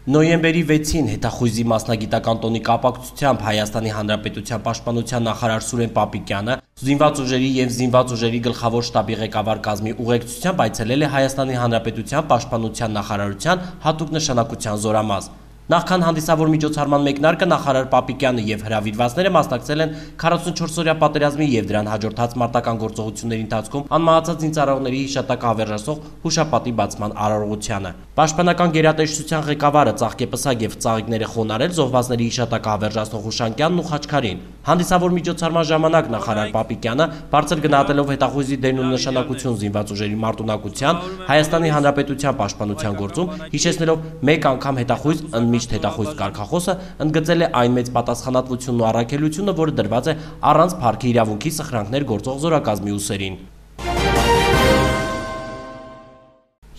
Նոյեմբերի 6-ին հետախույզի մասնագիտական տոնի կապակցությամբ Հայաստանի Հանրապետության պաշտպանության նախարար Սուրեն Պապիկյանը զինված ուժերի և զինված ուժերի գլխավոր շտաբի ղեկավար կազմի ուղեկցությամբ այցելել է Հայաստանի Հանրապետության պաշտպանության նախարարության հատուկ նշանակության զորամաս։ Նախքան հանդիսավոր միջոցառման մեկնարկը նախարար Պապիկյանը և հրավիրվածները մասնակցել են 44-օրյա պատերազմի և դրան հաջորդած մարտական գործողությունների ընթացքում անմահացած զինծառայողների հիշատակը հավերժացող հուշապատի բացման արարողությանը։ Պաշտպանական գերատեսչության ղեկավարը ծաղկեպսակ և ծաղիկները խոնարհել զոհվածների հիշատակը հավերժացնող Հուշանկյանն ու Խաչքարին։ Հանդիսավոր միջոցառման ժամանակ նախարար Պապիկյանը բարձր գնահատելով հետախույզի դերն ու նշանակություն զինված ուժերի մարտունակության, Հայաստանի Հանրապետության պաշտպանության գործում, հիշեցնելով մեկ անգամ հետախույզ միշտ հետախույզ կարգախոսը, ընդգծել է այն մեծ պատասխանատվությունն ու առաքելությունը, որը դրված է առանց փառքի իրավունքի սխրանքներ գործող զորակազմի ուսերին։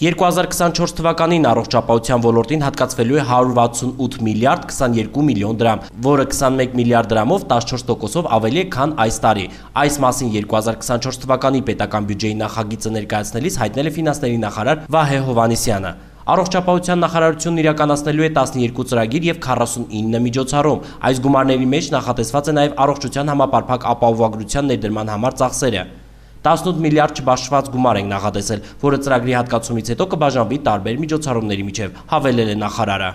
2024 թվականին առողջապահության ոլորտին հատկացվելու է 168 միլիարդ 22 միլիոն դրամ, որը 21 միլիարդ դրամով 14%-ով ավելի է, քան այս տարի։ Այս մասին 2024 թվականի պետական բյուջեի նախագիծը ներկայացնելիս հայտնել է ֆինանսների նախարար Վահե Հովհաննիսյանը։ Առողջապահության նախարարությունն իրականացնելու է 12 ծրագիր և 49 միջոցառում։ Այս գումարների մեջ նախատեսված է նաև առողջության համապարփակ ապահովագրության ներդրման համար ծախսերը։ 18 միլիարդ չբաշխված գումար ենք նախատեսել, որը ծրագրի հատկացումից հետո կբաժանվի տարբեր միջոցառումների միջև, հավելել է նախարարը։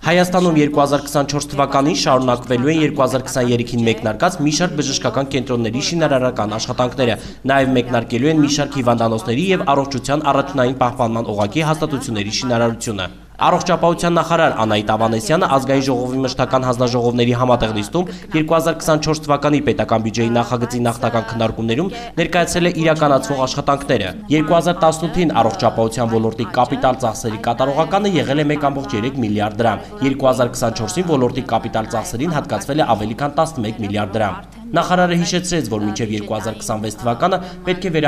Հայաստանում 2024 թվականին շարունակվելու են 2023-ին մեկնարկած մի շարք բժշկական կենտրոնների շինարարական աշխատանքները, նաև մեկնարկելու են մի շարք հիվանդանոցների և առողջության առաջնային պահպանման օղակի հաստատությունների շինարարությունը։ Առողջապահության նախարար Անահիտ Ավանեսյանը ազգային ժողովի մշտական հանձնաժողովների համատեղ նիստում 2024 թվականի պետական բյուջեի նախագծի նախնական քննարկումներում ներկայացրել է իրականացվող աշխատանքները։ 2018-ին առողջապահության ոլորտի կապիտալ ծախսերի կատարողականը եղել է 1.3 միլիարդ դրամ, 2024-ին ոլորտի կապիտալ ծախսերին հատկացվել է ավելի քան 11 միլիարդ դրամ։ Նախարարը հիշեցրեց, որ մինչև 2026 թվականը պետք է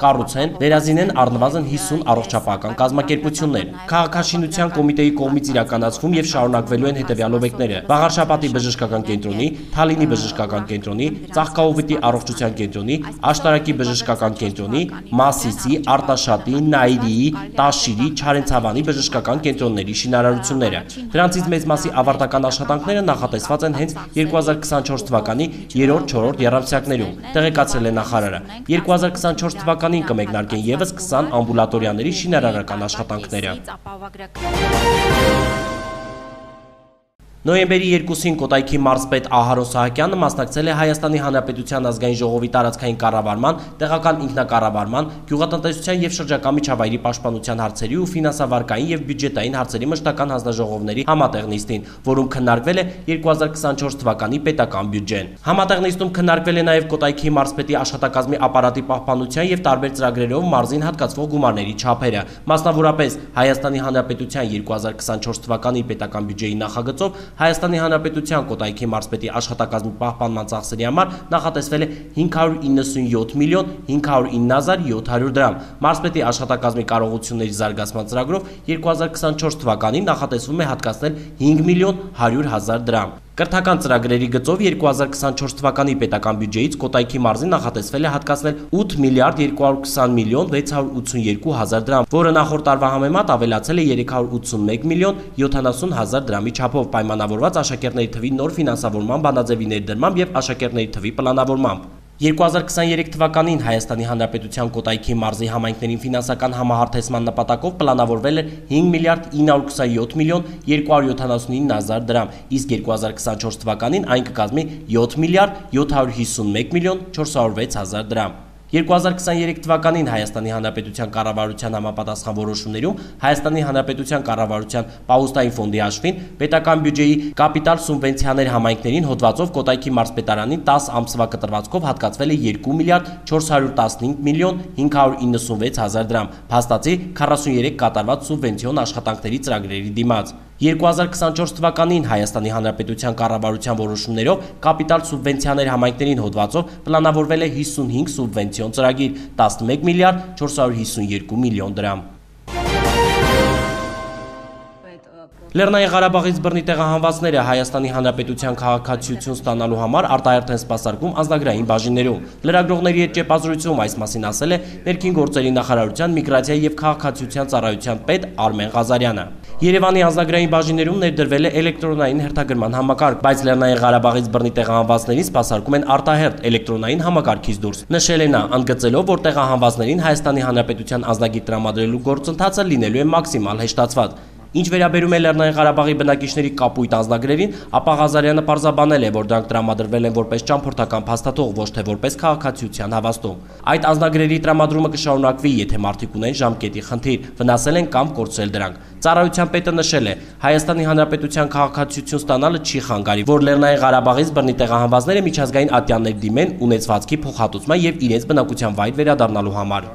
կառուցեն, վերազինեն առնվազն 50 առողջապահական կազմակերպություններ։ Քաղաքաշինության կոմիտեի կողմից իրականացվում և շարունակվելու են հետևյալ օբյեկտները՝ Վաղարշապատի բժշկական կենտրոնի, Թալինի բժշկական կենտրոնի, Ծաղկաուղիթի առողջության կենտրոնի, Աշտարակի բժշկական կենտրոնի, Մասիսի, Արտաշատի, Նայիրիի, Տաշիրի, Չարենցավանի բժշկական կենտրոնների շինարարությունները։ Դրանցից մեծ մասի ավարտական աշխատանքները նախատեսված են հենց 2024 թվականի 3-4 եռամսյակներում, տեղեկացրել է նախարարը։ 2024 թվականին կմեկնարկեն ևս 20 ամբուլատորիաների շինարարական աշխատանքները։ Նոյեմբերի 2-ին Կոտայքի մարզպետ Ահարոն Սահակյանը մասնակցել է Հայաստանի Հանրապետության ազգային ժողովի տարածքային կառավարման, տեղական ինքնակառավարման, գյուղատնտեսության և շրջակա միջավայրի պաշտպանության հարցերի ու ֆինանսավարկային և բյուջետային հարցերի մշտական հանձնաժողովների համատեղ նիստին, որում քննարկվել է 2024 թվականի պետական բյուջեն։ Համատեղ նիստում քննարկվել է նաև Կոտայքի մարզպետի աշխատակազմի ապարատի պահպանության և տարբեր ծրագրերով մարզին հատկացվող գումարների չափերը։ Մասնավորապես Հայաստանի Հանրապետության 2024 թվականի պետական բյուջեի նախագծով Հայաստանի Հանրապետության Կոտայքի մարզպետի աշխատակազմի պահպանման ծախսերի համար նախատեսվել է 597 միլիոն 509 700 դրամ։ Մարզպետի աշխատակազմի կարողությունների զարգացման ծրագրով 2024 թվականին նախատեսվում է հատկացնել 5 միլիոն 100 հազար դրամ։ Կրթական ծրագրերի գծով 2024 թվականի պետական բյուջեից Կոտայքի մարզին նախատեսվել է հատկացնել 8 միլիարդ 220 միլիոն 682 հազար դրամ, որը նախորդ տարվա համեմատ ավելացել է 381 միլիոն 70 հազար դրամի չափով, պայմանավորված աշակերտների թվի նոր ֆինանսավորման բանաձևի ներդրմամբ և աշակերտների թվի պլանավորմամբ։ 2023 թվականին Հայաստանի Հանրապետության Կոտայքի մարզի համայնքներին ֆինանսական համահարթեցման նպատակով պլանավորվել էր 5 միլիարդ 927 միլիոն 279 հազար դրամ, իսկ 2024 թվականին այն կկազմի 7 միլիարդ 751 միլիոն 406 հազար դրամ։ 2023 թվականին Հայաստանի Հանրապետության կառավարության համապատասխան որոշումներում Հայաստանի Հանրապետության կառավարության պահուստային ֆոնդի հաշվին պետական բյուջեի կապիտալ սուբվենցիաներ համայնքներին հոդվածով Կոտայքի մարզպետարանին 10 ամսվա կտրվածքով հատկացվել է 2 միլիարդ 415 միլիոն 596 հազար դրամ, փաստացի 43 կատարված սուբվենցիոն աշխատանքների ծրագրերի դիմաց։ 2024 թվականին Հայաստանի Հանրապետության կառավարության որոշումներով կապիտալ սուբվենցիաներ համայնքներին հոդվածով պլանավորվել է 55 սուբվենցիոն ծրագիր, 11 միլիարդ 452 միլիոն դրամ։ Լեռնային Ղարաբաղից բռնի տեղահանվածները Հայաստանի Հանրապետության քաղաքացիություն ստանալու համար արտահերթ են սպասարկում անձնագրային բաժիններում։ Լրագրողների հետ ճեպազրույցում այս մասին ասել է Ներքին գործերի նախարարության միգրացիայի և քաղաքացիության ծառայության պետ Արմեն Ղազարյանը։ Երևանի անձնագրային բաժիններում ներդրվել է էլեկտրոնային հերթագրման համակարգ, բայց Լեռնային Ղարաբաղից բռնի տեղահանվածներին սպասարկում են արտահերթ էլեկտրոնային համակարգից դուրս։ Նշել է նա, ընդգծելով, որ տեղահանվածներին Հայաստանի Հանրապետության անձնագիր տրամադրելու գործընթացը լինելու է մաքսիմալ հեշտացված։ Ինչ վերաբերում է Լեռնային Ղարաբաղի բնակիչների կապույտ անձնագրերին, ապա Ղազարյանը պարզաբանել է, որ դրանք տրամադրվել են որպես ճամփորդական փաստաթող, ոչ թե որպես քաղաքացիության հավաստում։ Այդ անձնագրերի տրամադրումը կշարունակվի, եթե մարդիկ ունեն ժամկետի խնդիր, վնասել են կամ կորցրել դրանք։ Ծառայության պետը նշել է, Հայաստանի Հանրապետության քաղաքացիություն ստանալը չի խանգարի, որ Լեռնային Ղարաբաղից բռնի տեղահանվածները միջազգային ատյաններ դիմեն ունեցվածքի փոխհատուցման եւ իրենց բնակության վայր վերադառնալու համար։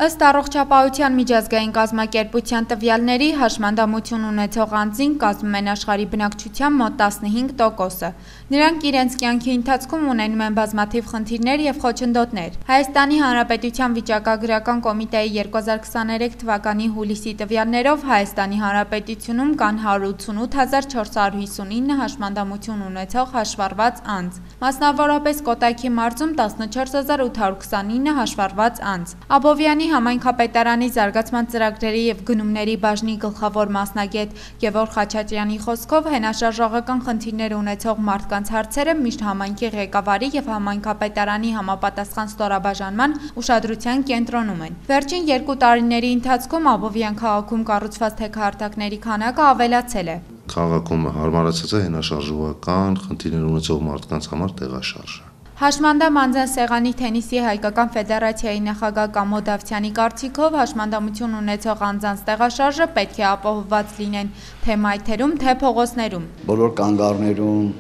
Ըստ առողջապահության միջազգային կազմակերպության տվյալների հաշմանդամություն ունեցող անձին կազմում են աշխարհի բնակչության մոտ 15%-ը։ Նրանք իրենց կյանքի ընթացքում ունենում են բազմաթիվ խնդիրներ եւ խոչընդոտներ։ Հայաստանի Հանրապետության վիճակագրական կոմիտեի 2023 թվականի հուլիսի տվյալներով Հայաստանի Հանրապետությունում կան 188459 հաշմանդամություն ունեցող հաշվառված անձ, մասնավորապես Կոտայքի մարզում 14829 հաշվառված անձ։ Աբովյանի Համայնքապետարանի զարգացման ծրագրերի եւ գնումների բաժնի գլխավոր մասնագետ Գևորգ Խաչատրյանի խոսքով հենաշարժողական խնդիրներ ունեցող մարդկանց հարցերը միշտ համայնքի ղեկավարի եւ համայնքապետարանի համապատասխան ստորաբաժանման ուշադրության կենտրոնում են։ Վերջին 2 տարիների ընթացքում Աբովյան քաղաքում կառուցված թեքահարթակների քանակը ավելացել է։ Քաղաքում հարմարացած է հենաշարժողական խնդիրներ ունեցող մարդկանց համար տեղաշարժը։ Հաշմանդամ անձան սեղանի թենիսի հայկական ֆեդերացիայի նախագահ Կամո Դավթյանի կարծիքով հաշմանդամություն ունեցող անձանց տեղաշարժը պետք է ապահովված լինեն թե մայթերում, թե փողոցներում։ Բոլոր կանգառներում,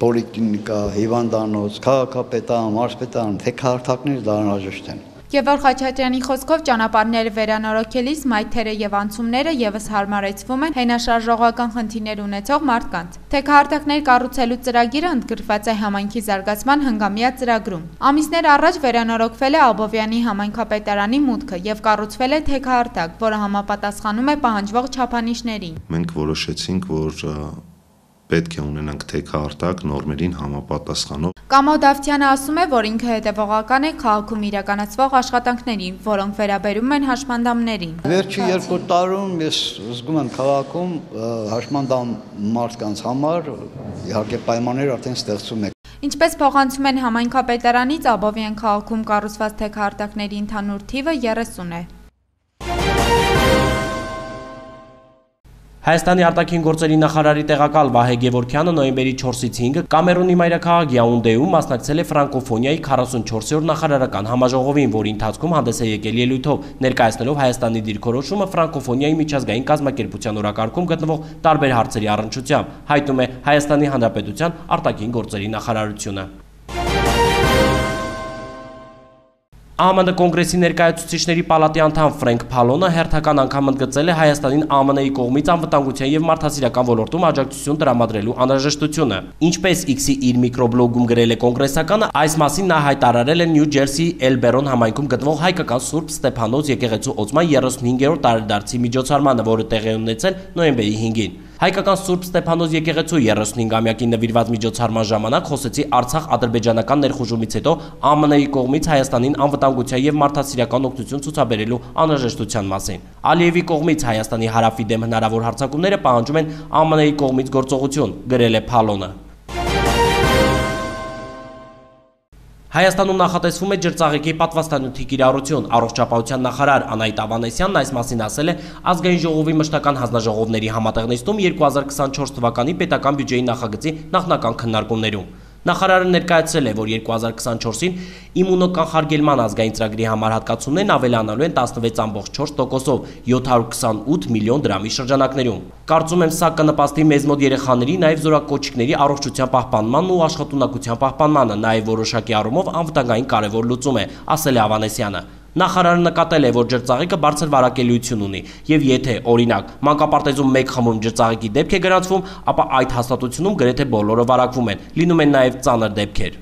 պոլիկլինիկա, հիվանդանոց, քաղաքապետարան, մարզպետարան, թեքահարթակներ դա անհրաժեշտ են։ Գևորգ Խաչատրյանի խոսքով ճանապարհները վերանորոգելիս մայթերը եւ անցումները եւս հարմարեցվում են հենաշարժողական խնդիրներ ունեցող մարդկանց։ Թեքահարթակներ կառուցելու ծրագիրը ընդգրկված է համայնքի զարգացման հնգամյա ծրագրում։ Ամիսներ առաջ վերանորոգվել է Աբովյանի համայնքապետարանի մուտքը եւ կառուցվել է թեքահարթակ, որը համապատասխանում է պահանջվող չափանիշներին։ Մենք որոշեցինք, որ պետք է ունենանք թեքահարթակ նորմերին համապատասխանող։ Կամո Դավթյանը ասում է, որ ինքը հետևողական է քաղաքում իրականացվող աշխատանքներին, որոնք վերաբերում են հաշմանդամներին։ Վերջի 2 տարում ես զգում եմ քաղաքում հաշմանդամ մարդկանց համար իհարկե պայմաններ արդեն ստեղծում է։ Ինչպես փոխանցում են համայնքապետարանից, Աբովյան քաղաքում կառուցված թեքահարթակների ընդհանուր թիվը 30 է։ Հայաստանի արտաքին գործերի նախարարի տեղակալ Վահե Գևորգյանը նոյեմբերի 4-ից 5-ը Կամերունի մայրաքաղաք Յաունդեում մասնակցել է ֆրանկոֆոնիայի 44-րդ նախարարական համաժողովին, որի ընթացքում հանդես է եկել ելույթով, ներկայացնելով Հայաստանի դիրքորոշումը ֆրանկոֆոնիայի միջազգային կազմակերպության օրակարգում գտնվող տարբեր հարցերի առնչությամբ, հայտնում է Հայաստանի Հանրապետության արտաքին գործերի նախարարությունը։ ԱՄՆ կոնգրեսի ներկայացուցիչների պալատի անդամ Ֆրենկ Փալոնը հերթական անգամ ընդգծել է Հայաստանին ԱՄՆ-ի կողմից անվտանգության եւ մարդասիրական ոլորտում աջակցություն տրամադրելու անհրաժեշտությունը։ Ինչպես X-ի իր միկրոբլոգում գրել է կոնգրեսականը, այս մասին նա հայտարարել է Նյու Ջերսի Էլբերոն համայնքում գտնվող հայկական Սուրբ Ստեփանոս եկեղեցու օծման 35-րդ տարեդարձի միջոցառմանը, որը տեղի ունեցել նոյեմբերի 5-ին։ Հայկական Սուրբ Ստեփանոս եկեղեցու 35-ամյակին նվիրված միջոցառման ժամանակ խոսեցի Արցախ-ադրբեջանական ներխուժումից հետո ԱՄՆ-ի կողմից Հայաստանին անվտանգության եւ մարդասիրական օգնություն ցուցաբերելու անհրաժեշտության մասին։ Ալիևի կողմից Հայաստանի հարավի դեմ հնարավոր հարձակումները պահանջում են ԱՄՆ-ի կողմից գործողություն, գրել է Փալոնը։ Հայաստանում նախատեսվում է ջրծաղիկի պատվաստանյութի կիրառություն։ Առողջապահության նախարար Անահիտ Ավանեսյանն այս մասին ասել է ազգային ժողովի մշտական հանձնաժողովների համատեղ նիստում 2024 թվականի պետական բյուջեի նախագծի նախնական քննարկումներում։ Նախարարը ներկայացրել է, որ 2024-ին իմունոկանխարգելման ազգային ծրագրի համար հատկացումներն ավելանալու են 16.4%-ով 728 միլիոն դրամի շրջանակներում։ Կարծում եմ, սա կնպաստի մեզ մոտ երեխաների, նաև զորակոչիկների առողջության պահպանմանն ու աշխատունակության պահպանմանը, նաև որոշակի առումով անվտանգային կարևոր լուծում է, ասել է Ավանեսյանը։ Նախարարը նկատել է, որ ջրծաղիկը բարձր վարակելիություն ունի, եւ եթե, օրինակ, մանկապարտեզում մեկ խմում ջրծաղիկի դեպք է գրանցվում, ապա այդ հաստատությունում գրեթե բոլորը վարակվում են, լինում են նաեւ ծանր դեպքեր։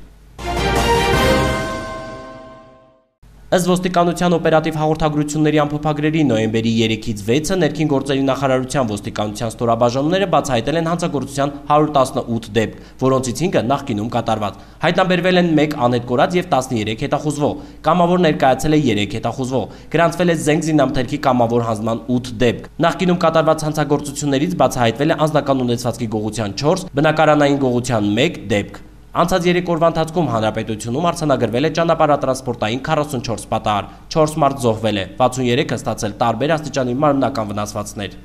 Ըստ ոստիկանության օպերատիվ հաղորդագրությունների ամփոփագրերի նոյեմբերի 3-ից 6-ը ներքին գործերի նախարարության ոստիկանության ստորաբաժանումները բացահայտել են հանցագործության 118 դեպք, որոնցից 5-ը նախկինում կատարված։ Հայտնաբերվել են 1 անհետ կորած եւ 13 հետախուզվող։ Կամավոր ներկայացել է 3 հետախուզվող։ Գրանցվել է զենք զինամթերքի կամավոր հանձնման 8 դեպք։ Նախկինում կատարված հանցագործություններից բացահայտվել է անձնական ունեցվածքի գողության 4, բնակարանային գողության 1 դեպք։ Անցած 3 օրվա ընթացքում հանրապետությունում արձանագրվել է ճանապարհատրանսպորտային 44 պատահար, 4 մարդ զոհվել է, 63-ը ստացել տարբեր աստիճանի մարմնական վնասվածքներ։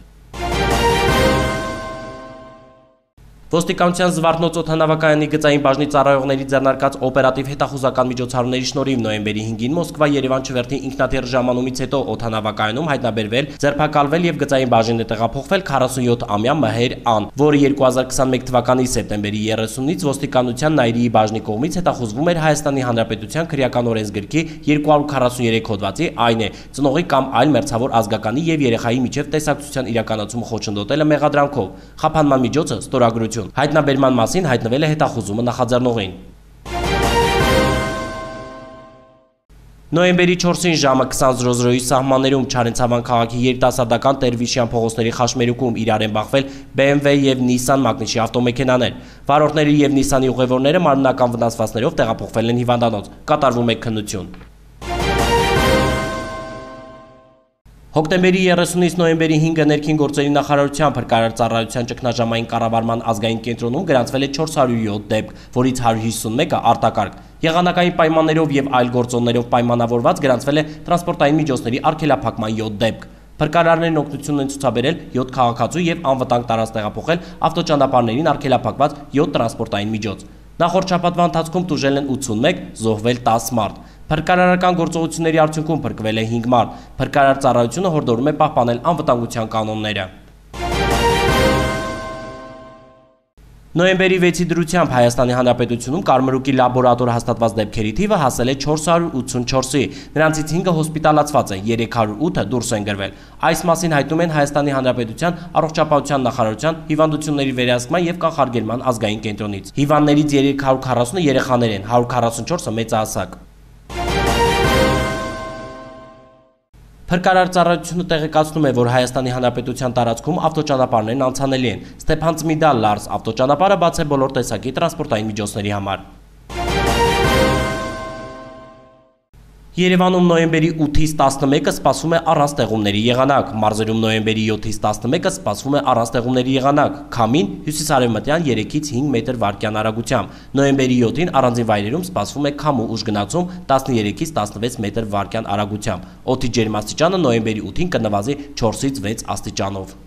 Ոստիկանության Զվարթնոց օդանավակայանի գծային բաժնի ծառայողների ձեռնարկած օպերատիվ հետախուզական միջոցառումների շնորհիվ նոյեմբերի 5-ին Մոսկվա-Երևան չվերթի ինքնաթիռ ժամանումից հետո օդանավակայանում հայտնաբերվել, ձերբակալվել եւ գծային բաժին է տեղափոխվել 47-ամյա Մհեր Ան, որը 2021 թվականի սեպտեմբերի 30-ից ոստիկանության Նայիրիի բաժնի կողմից հետախուզվում էր Հայաստանի Հանրապետության քրեական օրենսգրքի 243 հոդվածի, այն է ծնողի կամ այլ մերձավոր ազգականի եւ երեխայի միջև տեսակցության իրականացումը խոչընդոտելը մեղադրանքով։ Խափանման միջոցը ստորագրություն։ Հայտնաբերման մասին հայտնվել է հետախուզումը նախաձեռնողին։ Նոյեմբերի 4-ին ժամը 20:00-ի սահմաններում Չարենցավան քաղաքի երիտասարդական Տեր-Վիշյան փողոցների խաշմերուկում իրար են բախվել BMW եւ Nissan մագնիշի ավտոմեքենաներ։ Վարորդների եւ Nissan-ի ուղևորները մարմնական վնասվածքներով տեղափոխվել են հիվանդանոց։ Կատարվում է քննություն։ Հոկտեմբերի 30-ից նոյեմբերի 5-ը ներքին գործերի նախարարության փրկարար ծառայության ճգնաժամային կառավարման ազգային կենտրոնում գրանցվել է 407 դեպք, որից 151-ը արտակարգ։ Եղանակային պայմաններով եւ այլ գործոններով պայմանավորված գրանցվել է տրանսպորտային միջոցների արգելափակման 7 դեպք։ Փրկարարներն օգնություն են ցուցաբերել 7 քաղաքացու եւ անվտանգ տարածք տեղափոխել ավտոճանապարհներին արգելափակված 7 տրանսպորտային միջոց։ Նախորդ շաբաթվա ընթացքում տուժել են 81, զոհվել 10 մարդ։ Փրկարարական գործողությունների արդյունքում փրկվել է 5 մարդ։ Փրկարար ծառայությունը հորդորում է պահպանել անվտանգության կանոնները։ Նոյեմբերի 6-ի դրությամբ Հայաստանի Հանրապետությունում կարմրուկի լաբորատոր հաստատված դեպքերի թիվը հասել է 484-ի, նրանցից 5-ը հոսպիտալացված են, 308-ը դուրս են գրվել։ Այս մասին հայտնում են Հայաստանի Հանրապետության առողջապահության նախարարության հիվանդությունների վերահսկման եւ կանխարգելման ազգային կենտրոնից։ Հիվանդներից 340-ը երեխաներ են, 144-ը մեծահասակ։ Փրկարար ծառայությունը տեղեկացնում է, որ Հայաստանի Հանրապետության տարածքում ավտոճանապարհներն անցանելի են։ Ստեփան-Ծմիդա-Լարս ավտոճանապարհը բաց է բոլոր տեսակի տրանսպորտային միջոցների համար։ Երևանում նոյեմբերի 8-ից 11-ը սպասվում է առանց տեղումների եղանակ, մարզերում նոյեմբերի 7-ից 11-ը սպասվում է առանց տեղումների եղանակ, քամին հյուսիսարևմտյան 3-ից 5 մետր վարկյան արագությամբ, նոյեմբերի 7-ին առանձին վայրերում սպասվում է քամու ուժ գնացում 13-ից 16 մետր վարկյան արագությամբ, օդի ջերմաստիճանը նոյեմբերի 8-ին կնվազի 4-ից 6 աստիճանով։